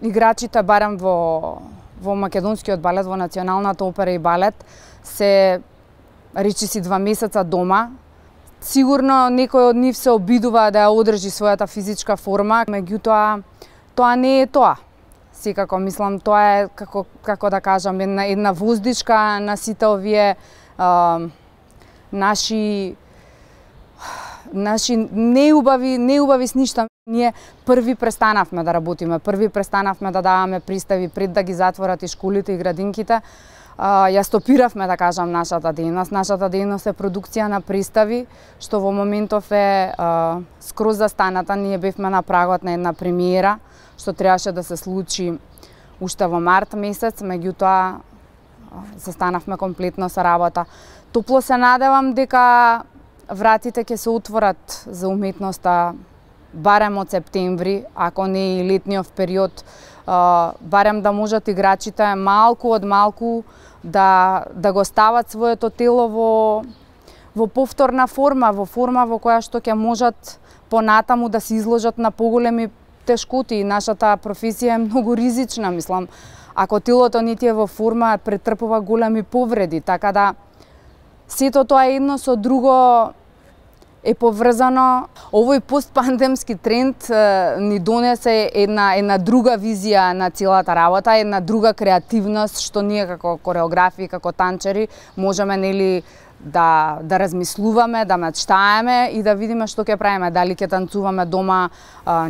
играчите барем во македонскиот балет, во Националната опера и балет, се речиси 2 месеца дома. Сигурно некој од нив се обидува да ја одржи својата физичка форма, меѓутоа тоа не е тоа. Секако мислам тоа е како да кажам една воздишка на сите овие наши неубави сништа. Ние први престанавме да работиме, први престанавме да даваме пристави пред да ги затворат и школите и градинките. Ја стопиравме, да кажам, нашата дејност. Нашата дејност е продукција на пристави, што во моментов е скроз застаната. Ние бевме на прагот на една премиера, што требаше да се случи уште во март месец, меѓутоа застанавме комплетно со работа. Топло се надевам дека вратите ќе се отворат за уметноста барем од септември, ако не и летниот период, барем да можат играчите малку од малку да го стават своето тело во повторна форма, во форма во која што ќе можат понатаму да се изложат на поголеми тешкоти. Нашата професија е многу ризична, мислам. Ако телото не ти е во форма, претрпува големи повреди, така да сето тоа едно со друго е поврзано. Овој постпандемски тренд ни донесе една друга визија на целата работа, една друга креативност што ние како кореографи, како танчери можеме да размислуваме, да мечтаеме и да видиме што ќе правиме, дали ќе танцуваме дома,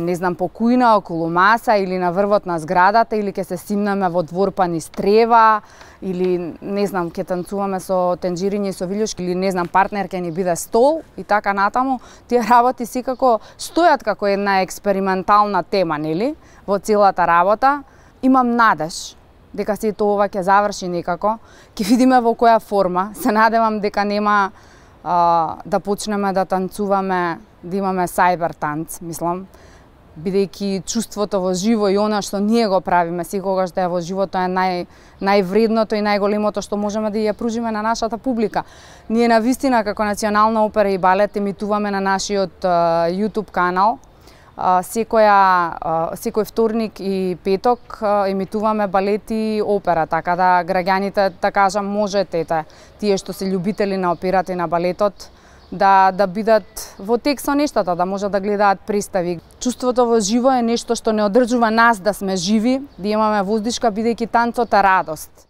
не знам, по кујна, околу маса или на врвот на зградата, или ќе се симнеме во двор па низ трева, или не знам, ќе танцуваме со тенџириња и со вилјушки, или не знам, партнер ќе ни биде стол и така натаму. Тие работи секако стојат како една експериментална тема, нели, во целата работа. Имам надеж дека сето ова ќе заврши некако, ќе видиме во која форма. Се надевам дека нема да почнеме да танцуваме, да имаме сајбер танц, мислам, бидејќи чувството во живо и она што ние го правиме секогаш да е во живото е највредното и најголемото што можеме да ја пружиме на нашата публика. Ние навистина како Национална опера и балет емитуваме на нашиот YouTube канал. Секој вторник и петок емитуваме балет и опера, така да граѓаните, да кажам, можете, тие што се љубители на операта и на балетот, да бидат во тек со нештата, да можат да гледаат представи. Чувството во живо е нешто што не одржува нас да сме живи, да имаме воздишка, бидејќи танцот е радост.